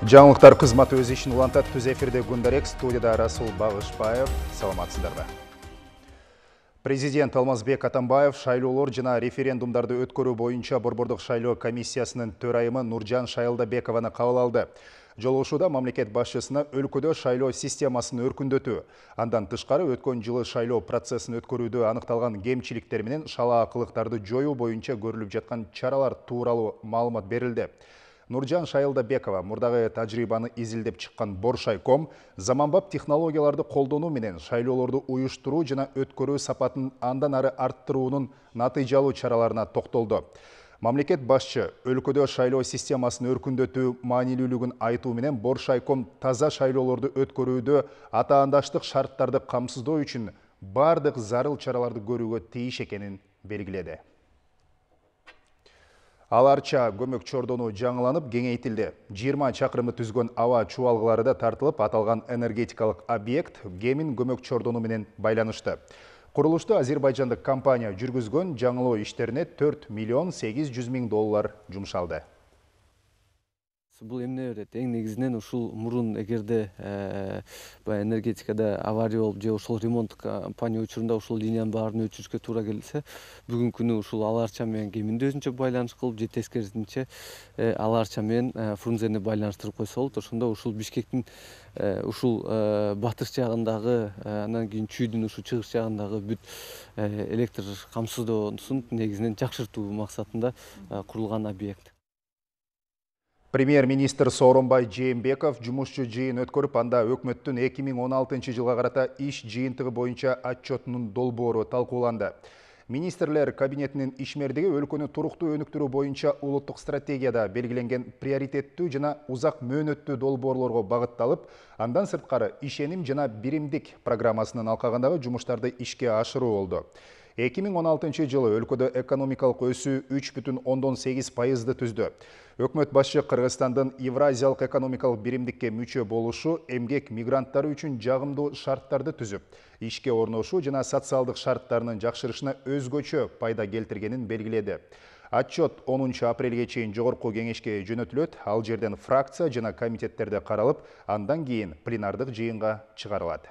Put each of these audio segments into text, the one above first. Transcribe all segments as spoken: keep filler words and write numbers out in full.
Жаңылыктар кызматы өз ишин улантат. Түз эфирде Гундарек, студияда Расул Багышбаев. Саламатсыздарбы. Президент Алмазбек Атамбаев шайлоолор жана референдумдарды өткөрүү боюнча Борбордук шайлоо комиссиясынын төрайымы Нуржан Шайылдабекованы кабыл алды. Жолугушууда мамлекет башчысына өлкөдө шайлоо системасын өркүндөтүү, андан тышкары өткөн жылы шайлоо процессин өткөрүүдө аныкталган кемчиликтер менен шалаакылыктарды жоюу боюнча көрүлүп жаткан чаралар тууралуу маалымат берилди. Нуржан Шайылдабекова мурдагы тажрыйбаны изилдеп чыккан Боршайком заманбап технологияларды колдонуу менен шайлоолорду уюштуруу жана өткөрүү сапатын андан ары арттыруунун натыйжалуу чараларына токтолду. Мамлекет башчы өлкөдө шайлоо системасын өркүндөтүү маанилүүлүгүн айтуу менен Боршайком таза шайлоолорду өткөрүүдө атаандаштык шарттарды камсыздоо үчүн бардык зарыл чараларды көрүүгө тийиш экенин белгиледи. Аларча көмөк чордону жаңыланып кеңейтилди. жыйырма чакырымды түзгөн аба чубалгылары да тартылып, аталган энергетикалык объект Кемин көмөк чордону менен байланышты. Курулушту азербайжандык компания жүргүзгөн, жаңылоо иштерине төрт миллион сегиз жүз миң доллар жумшалды. Бул эмне берет? Эң негизинен ушул мурун эгерде энергетикада авария болуп же ошол ремонт компания учурунда ушул линиянын баарын өчүрүшкө туура келсе, бүгүнкү күнү ушул Аларча менен Кеминди өзүнчө байланыш кылып, же тескерисинче Аларча менен Фрунзени байланыштырып койсо болот. Ошондо ушул Бишкектин ушул батыш жагындагы, анан кийин Чүйдүн ушул чыгыш жагындагы бүт электр камсыздоосун негизинен жакшыртуу максатында курулган объект. Премьер-министр Сооронбай Жээнбеков жумушчу жыйын өткөрүп, анда өкмөттүн эки миң он алтынчы жылга карата иш жыйынтыгы боюнча отчетунун долбоору талкууланды. Министрлер кабинетинин ишмердиги өлкөнү туруктуу өнүктүрүү боюнча улуттук стратегияда белгиленген приоритеттүү жана узак мөөнөттүү долбоорлорго багытталып, андан сырткары ишеним жана биримдик программасынын алкагындагы жумуштарды ишке ашыруу болду. эки миң он алтынчы жылы өлкөдө экономикалык өсүү үч бүтүн ондон сегиз пайызды түздү. Өкмөт башчы Кыргызстандын Евразиялык экономикалык биримдикке мүчө болушу эмгек мигранттары үчүн жагымдуу шарттарды түзүп, ишке орношуу жана социалдык шарттарынын жакшырышына өзгөчө пайда келтиргенин белгиледи. Отчет онунчу апрелге чейин жогорку кеңешке жөнөтүлөт, ал жерден фракция жана комитеттерде каралып, андан кийин пленардык жыйынга чыгарылат.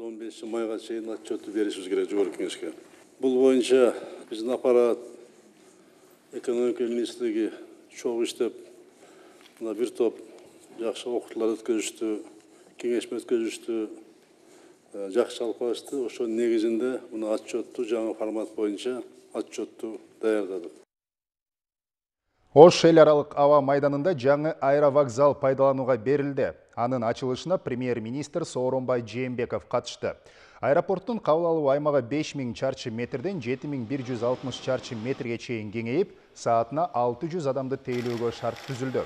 он бешинчи майга чейин отчетту беришибиз керек жогорку кеңешке. Бул боюнча биздин аппарат экономика министрлиги чогуу иштеп, мына бир топ жакшы окутуулар өткөзүштү, кеңешме өткөзүштү, жакшы жалпылашты. Ошонун негизинде мына отчетту жаңы формат боюнча отчетту даярдадык. Ош эл аралык аба майданында жаңы аэровокзал пайдаланууга берилди. Анын ачылышына премьер-министр Сооронбай Жээнбеков катышты. Аэропорттун кабыл алуу аймагы беш миң чарчы метрден жети миң бир жүз алтымыш чарчы метрге чейин кеңейип, саатына алты жүз адамды тейлөөгө шарт түзүлдү.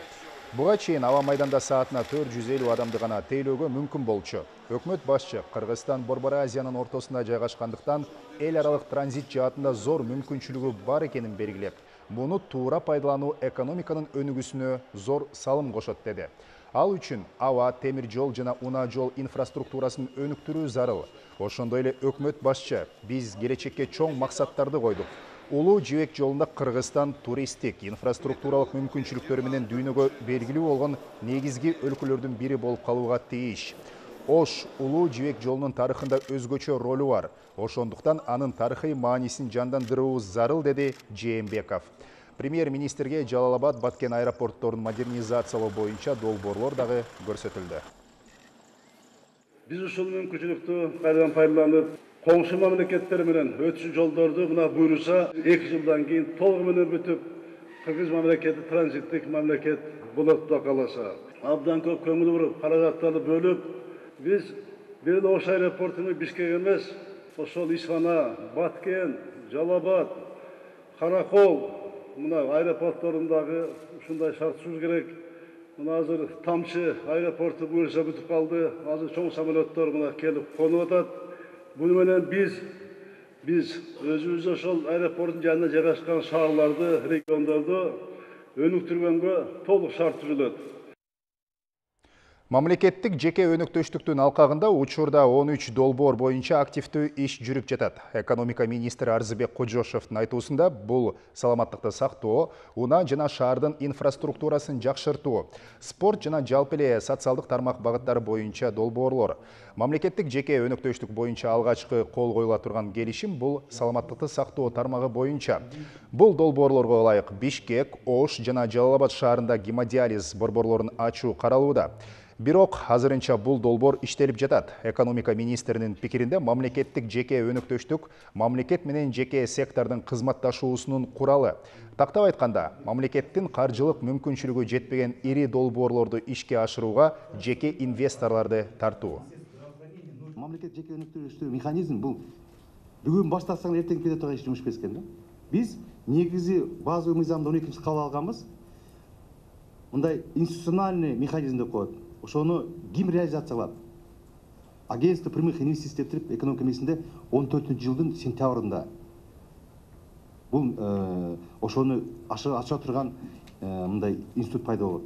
Буга чейин аба майданда саатына төрт жүз элүү адамды гана тейлөөгө мүмкүн болчу. Өкмөт башчы Кыргызстан Борбор Азиянын ортосунда жайгашкандыктан эл аралык транзит жаатында зор мүмкүнчүлүгү бар экенин белгилеп, муну туура пайдалануу экономиканын өнүгүүсүнө зор салым кошот деди. Ал үчүн аба, темир жол жана унаа жол инфраструктурасын өнүктүрүү зарыл. Ошондой эле өкмөт башчы биз келечекке чоң максаттарды койдук. Улуу жибек жолунда Кыргызстан туристтик, инфраструктуралык мүмкүнчүлүктөрү менен дүйнөгө белгилүү болгон негизги өлкөлөрдүн бири болуп калууга тийиш. Ош улуу жибек жолунун тарыхында өзгөчө ролу бар. Ошондуктан анын тарыхый маанисин жандандыруу зарыл, деди Жээнбеков. Премьер-министрге Жалал-Абад, Баткен аэропортторун модернизациялоо боюнча долбоорлор дагы көрсөтүлдү. Биз ушул мүмкүнчүлүктү кайрадан пайдаланып, коңшу мамлекеттер менен өтүш жолдорду мына буйруса эки жылдан кийин толугу менен бүтүп, Кыргыз мамлекети транзиттик мамлекет болот да каласа. Абдан көп көңүл буруп, каражаттарды бөлүп, биз бир эле Ош аэропортуну Бишкек эмес, ошол Ишхана, Баткен, Жалал-Абад, Каракол мына аэропортторундагы ушундай шарт түзүш керек. Мына азыр Тамчы аэропорту буюрса бүтүп калды. Азыр чоң самолеттор мына келип конуп атат. Буну менен биз биз өзүбүз ошол аэропорттун жанында жайгашкан шаарларды, региондорду өнүктүргөнгө толук шарт түзүлөт. Мамлекеттик жеке өнөктөштүктүн алкагында учурда он үч долбоор боюнча активдүү иш жүрүп жатат. Экономика министри Арзыбек Кожошовдун айтуусунда бул саламаттыкты сактоо, унаа жана шаардын инфраструктурасын жакшыртуу, спорт жана жалпы эле социалдык тармак багыттары боюнча долбоорлор. Мамлекеттик жеке өнөктөштүк боюнча алгачкы кол коюла турган келишим бул саламаттыкты сактоо тармагы боюнча. Бул долбоорлорго ылайык Бишкек, Ош жана Жалал Абад шаарында гемодиализ борборлорун ачуу каралууда. Бирок азырынча бул долбоор иштелип жатат. Экономика министринин пикиринде мамлекеттик жеке өнөктөштүк мамлекет менен жеке сектордун кызматташуусунун куралы. Тактап айтканда, мамлекеттин каржылык мүмкүнчүлүгү жетпеген ири долбоорлорду ишке ашырууга жеке инвесторлорду тартуу. Мамлекет жеке өнөктөштүү механизм бул бүгүн баштасаң эртең кете турган иш жумуш эмес экен да. Биз негизи базовый мыйзамды он экинчи кабыл алганбыз. Мындай институциональный механизм деп коет. Ошону ким реализациялап? Агентство прямых инвестиций деп экономика министринде он төртүнчү жылдын сентябрында. Бул ошону ача турган мындай институт пайда болот.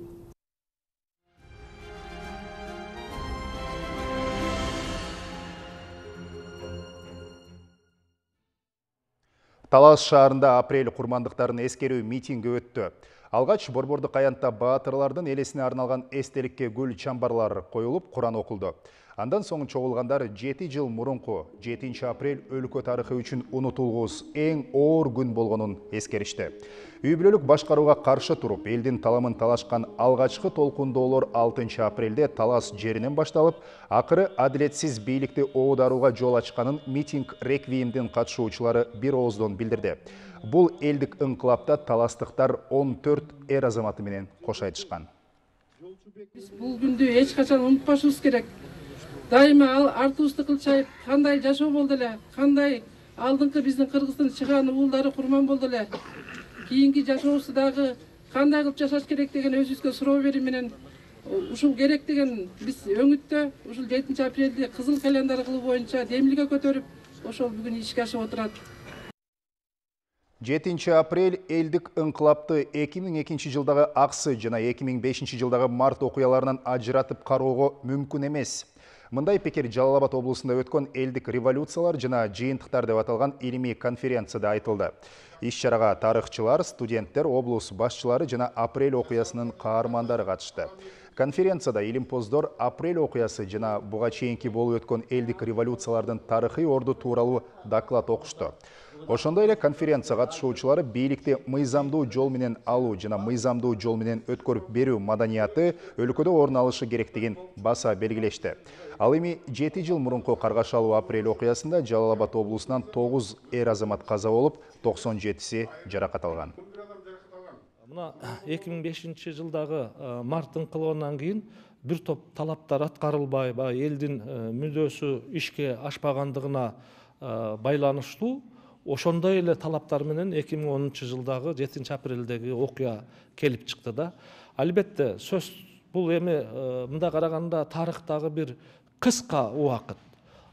Талас шаарында апрель курмандыктарын эскерүү митинги өттү. Алгач Борбордук аянтта баатырлардын элесине арналган эстеликке гүл чамбарлар коюлуп, Куран окулду. Андан соң чогулгандар жети жыл мурунку жетинчи апрель өлкө тарыхы үчүн унутулгус эң оор күн болгонун эскеришти. Үй бүлөлүк башкарууга каршы туруп, элдин таламын талашкан алгачкы толкундоолор алтынчы апрелде Талас жеринен башталып, акыры адилетсиз бийликти оодарууга жол ачканын митинг реквиемдин катышуучулары бир ооздон билдирди. Бул элдик ыңкылапта таластыктар он төрт эр азаматы менен кош айтышкан. Бул күндү эч качан унутпашыбыз керек. Дайыма артыбызды кылчайып, кандай жашоо болду эле, кандай алдыңкы биздин Кыргыздын чыгаан уулдары курман болду эле. Кийинки жашообузду дагы кандай кылып жашаш керек деген өзүбүзгө суроо берүү менен ушул керек деген биз өңүттө ушул жетинчи апрелди кызыл календарь кылуу боюнча демилге көтөрүп, ошол бүгүн ишке ашып отурат. жетинчи апрель элдик ыңкылапты эки миң экинчи жылдагы аксы жана эки миң бешинчи жылдагы март окуяларынан ажыратып кароого мүмкүн эмес. Мындай пикир Жалал Абад облусунда өткөн элдик революциялар жана жыйынтыктар деп аталган илимий конференцияда айтылды. Иш-чарага тарыхчылар, студенттер, облус башчылары жана апрель окуясынын каармандары катышты. Конференцияда илимпоздор апрель окуясы жана буга чейинки болуп өткөн элдик революциялардын тарыхый орду тууралуу доклад окушту. Ошондой эле конференция катышуучулары бийликти мыйзамдуу жол менен алуу жана мыйзамдуу жол менен өткөрүп берүү маданияты өлкөдө орун алышы керектигин баса белгилешти. Ал эми жети жыл мурунку каргашалуу апрель окуясында Жалал Абад облусунан тогуз эр азамат каза болуп, токсон жетиси жаракат алган. Мына эки миң бешинчи жылдагы март ыңкылыбынан кийин бир топ талаптар аткарылбай, элдин мүдөөсү ишке ашпагандыгына байланыштуу ошондой эле талаптар менен эки миң онунчу жылдагы жетинчи апрелдеги окуя келип чыкты да. Албетте сөз бул эми мындай караганда тарыхтагы бир кыска убакыт.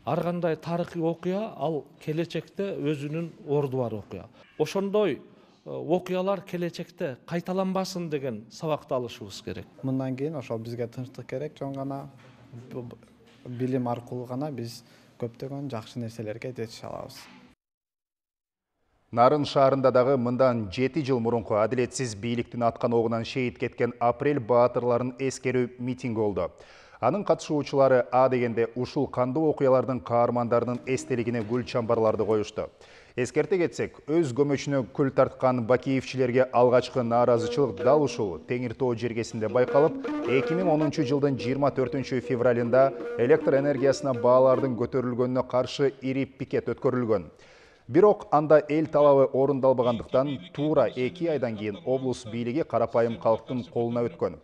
Ар кандай тарыхый окуя ал келечекте өзүнүн орду бар окуя. Ошондой окуялар келечекте кайталанбасын деген сабакты алышыбыз керек. Мындан кийин ошол бизге тынчтык керек, жон гана билим аркылуу гана биз көптөгөн жакшы нерселерге жетише алабыз. Нарын шаарында дагы мындан жети жыл мурунку адилетсиз бийликтин аткан огунан шейит кеткен апрель баатырларын эскерүү митинги болду. Анын катышуучулары а дегенде ушул кандуу окуялардын каармандарынын эстелигине гүл чамбарларды коюшту. Эскерте кетсек, өз көмөчүнө күл тарткан бакиевчилерге алгачкы нааразычылык дал ушул Теңир Тоо жергесинде байкалып, эки миң онунчу жылдын жыйырма төртүнчү февралында электр энергиясына баалардын көтөрүлгөнүнө каршы ири пикет өткөрүлгөн. Бирок анда эл талабы орундалбагандыктан туура эки айдан кийин облус бийлиги карапайым калктын колуна өткөн.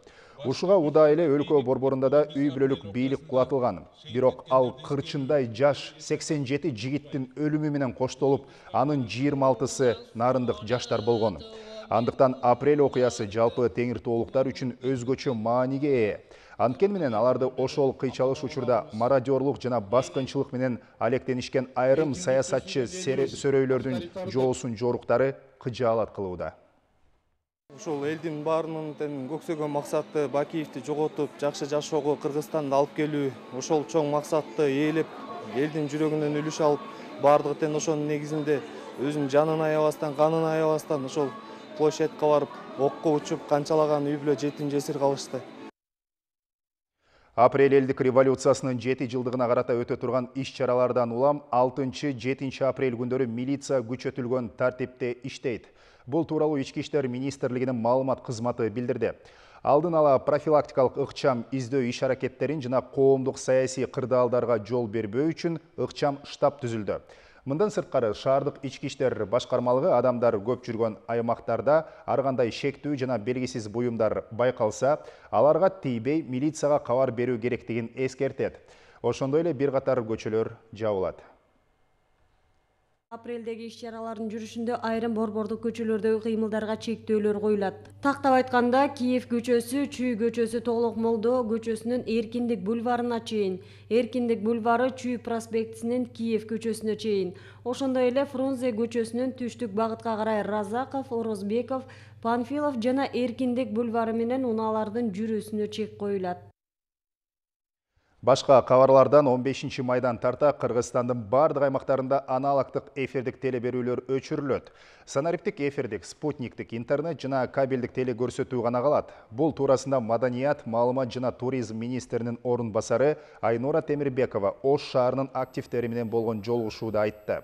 Ушуга удаа эле өлкө борборунда да үй бүлөлүк бийлик кулатылган. Бирок ал кырчындай жаш сексен жети жигиттин өлүмү менен коштолуп, анын жыйырма алтысы нарындык жаштар болгон. Андыктан апрель окуясы жалпы Теңир Тоолуктар үчүн өзгөчө мааниге ээ. Анткени менен аларды ошол кыйчалыш учурда мародёрлук жана баскынчылык менен алектенишкен айрым саясатчы сөрөйлөрдүн жоосун жоруктары кыжаалат кылууда. Ушул элдин баарынын көксөгөн максаты Бакиевди жоготуп, жакшы жашоого Кыргызстанды алып келүү. Ошол чоң максатты ээлеп, элдин жүрөгүнөн үлүш алып, бардыгы тең ошонун негизинде өзүнүн жанын аябастан, канын аябастан ошол площадька барып, окко учуп, канчалаган үй бүлө жетим жесир калышты. Апрель элдик революциясынын жети жылдыгына карата өтө турган иш-чаралардан улам алтынчы жетинчи апрель күндөрү милиция күчөтүлгөн тартипте иштейт. Бул тууралуу Ички иштер министрлигинин маалымат кызматы билдирди. Алдын ала профилактикалык ыкчам издөө иш-аракеттерин жана коомдук саясий кырдаалдарга жол бербөө үчүн ыкчам штаб түзүлдү. Мындан сырткары шаардык ички иштер башкармалыгы адамдар көп жүргөн аймактарда ар кандай шектүү жана белгисиз буюмдар байкалса, аларга тийбей милицияга кабар берүү керектигин эскертет. Ошондой эле бир катар көчөлөр жабылат. Апрелдеги иш-чаралардын жүрүшүндө айрым борбордук көчөлөрдөгү кыймылдарга чектөөлөр коюлат. Тактап айтканда, Киев көчөсү, Чүй көчөсү Толук Молдо көчөсүнүн Эркиндик бульварына чейин, Эркиндик бульвары Чүй проспектисинен Киев көчөсүнө чейин, ошондой эле Фрунзе көчөсүнүн түштүк багытка карай Разаков, Орозбеков, Панфилов жана Эркиндик бульвары менен унаалардын жүрүүсүнө чек коюлат. Башка кабарлардан он бешинчи майдан тарта Кыргызстандын бардык аймактарында аналогдук эфирдик телеберүүлөр өчүрүлөт. Санариптик эфирдик, спутниктик, интернет жана кабелдик теле көрсөтүү гана калат. Бул туурасында Маданият, маалымат жана туризм министринин орун басары Айнура Темирбекова Ош шаарынын активдери менен болгон жолугушууда айтты.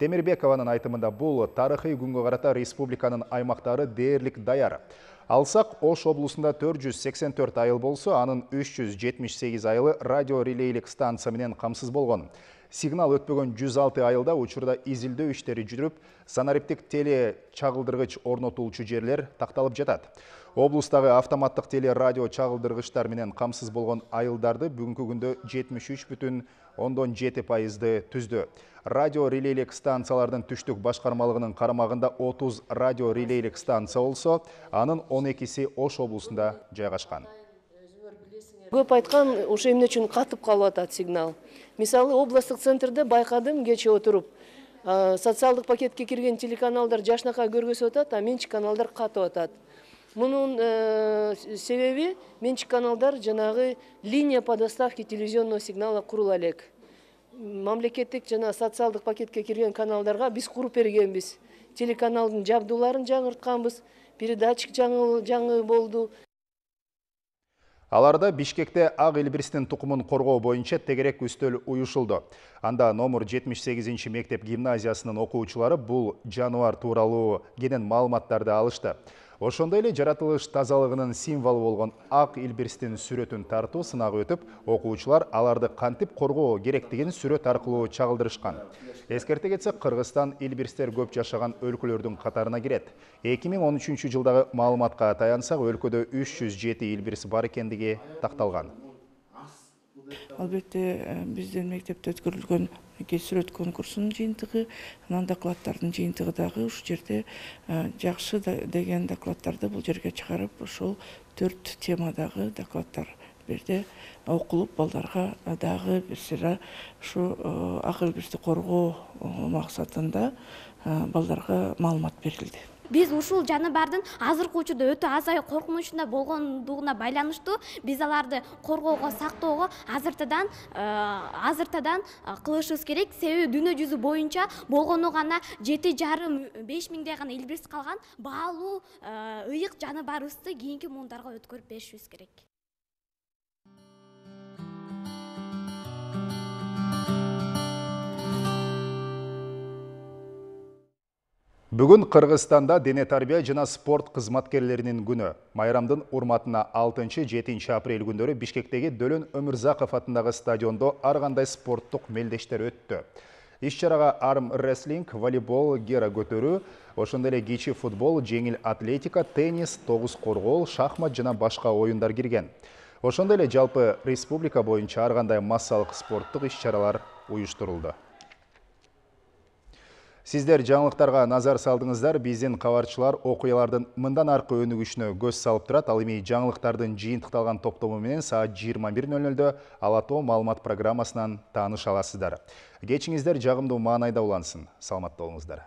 Темирбекованын айтымында бул тарыхый күнгө карата республиканын аймактары дээрлик даяр. Алсак, Ош облусунда төрт жүз сексен төрт айыл болсо, анын үч жүз жетимиш сегиз айылы радио релейлик станция менен камсыз болгон. Сигнал өтпөгөн жүз алты айылда учурда изилдөө иштери жүрүп, санариптик теле чагылдыргыч орнотулчу жерлер такталып жатат. Облустагы автоматтык теле радио чагылдыргычтар менен камсыз болгон айылдарды бүгүнкү күндө жетимиш үч бүтүн ондон жети пайызды түздү. Радио релейлик станциялардын түштүк башкармалыгынын карамагында отуз радио релейлик станция болсо, анын он экиси Ош облусунда жайгашкан. Көп айткан, ошо эмне үчүн катып калып атат сигнал. Мисалы, областтык центрде байкадым, кече отуруп, социалдык пакетке кирген телеканалдар жашнакай көргөзүп атат, а менчик каналдар катып атат. Мунун себеби менчик каналдар жанагы линия по доставке телевизионного сигнала курула элек. Мамлекеттик жана социалдык пакетке кирген каналдарга биз куруп бергенбиз. Телеканалдын жабдууларын жаңыртканбыз, передатчик жаңы болду. Аларда Бишкекте ак илбирстин тукумун коргоо боюнча тегерек үстөл уюшулду. Анда номер жетимиш сегизинчи мектеп гимназиясынын окуучулары бул жаныбар тууралуу кенен маалыматтарды алышты. Ошондой эле жаратылыш тазалыгынын символу болгон ак илбирстин сүрөтүн тартуу сынагы өтүп, окуучулар аларды кантип коргоо керектигин сүрөт аркылуу чагылдырышкан. Эскерте кетсек, Кыргызстан илбирстер көп жашаган өлкөлөрдүн катарына кирет. эки миң он үчүнчү жылдагы маалыматка таянсак, өлкөдө үч жүз жети илбирс бар экендиги такталган. Албетте, биздин мектепте өткөрүлгөн сүрөт конкурсунун жыйынтыгы, анан докладдардын жыйынтыгы дагы ушу жерде жакшы деген докладдарды бул жерге чыгарып, ошол төрт темадагы докладдар берде окулуп, балдарга дагы бир сыйра ушу ак илбирсти коргоо максатында балдарга маалымат берилди. Биз ушул жаныбардын азыркы учурда өтө азай коркунучунда болгондугуна байланыштуу биз аларды коргоого, сактоого азыртадан азыртадан кылышыбыз керек. Себеби дүйнө жүзү боюнча болгону гана жети жарым беш миңдей гана илбирс калган баалуу ыйык жаныбарыбызды кийинки муундарга өткөрүп беришибиз керек. Бүгүн Кыргызстанда дене тарбия жана спорт кызматкерлеринин күнү. Майрамдын урматына алтынчы жетинчи апрель күндөрү Бишкектеги Дөлөн Өмүрзаков атындагы стадиондо ар кандай спорттук мелдештер өттү. Иш-чарага арм рестлинг, волейбол, гера көтөрүү, ошондой эле кичи футбол, жеңил атлетика, теннис, тогуз коргоол, шахмат жана башка оюндар кирген. Ошондой эле жалпы республика боюнча ар кандай массалык спорттук иш-чаралар уюштурулду. Сиздер жаңылыктарга назар салдыңыздар, биздин кабарчылар окуялардын мындан аркы өнүгүшүнө көз салып турат. Ал эми жаңылыктардын жыйынтыкталган топтому менен саат жыйырма бир нөл нөлдө Ала Тоо маалымат программасынан тааныша аласыздар. Кечиңиздер жагымдуу маанайда улансын. Саламатта болуңуздар.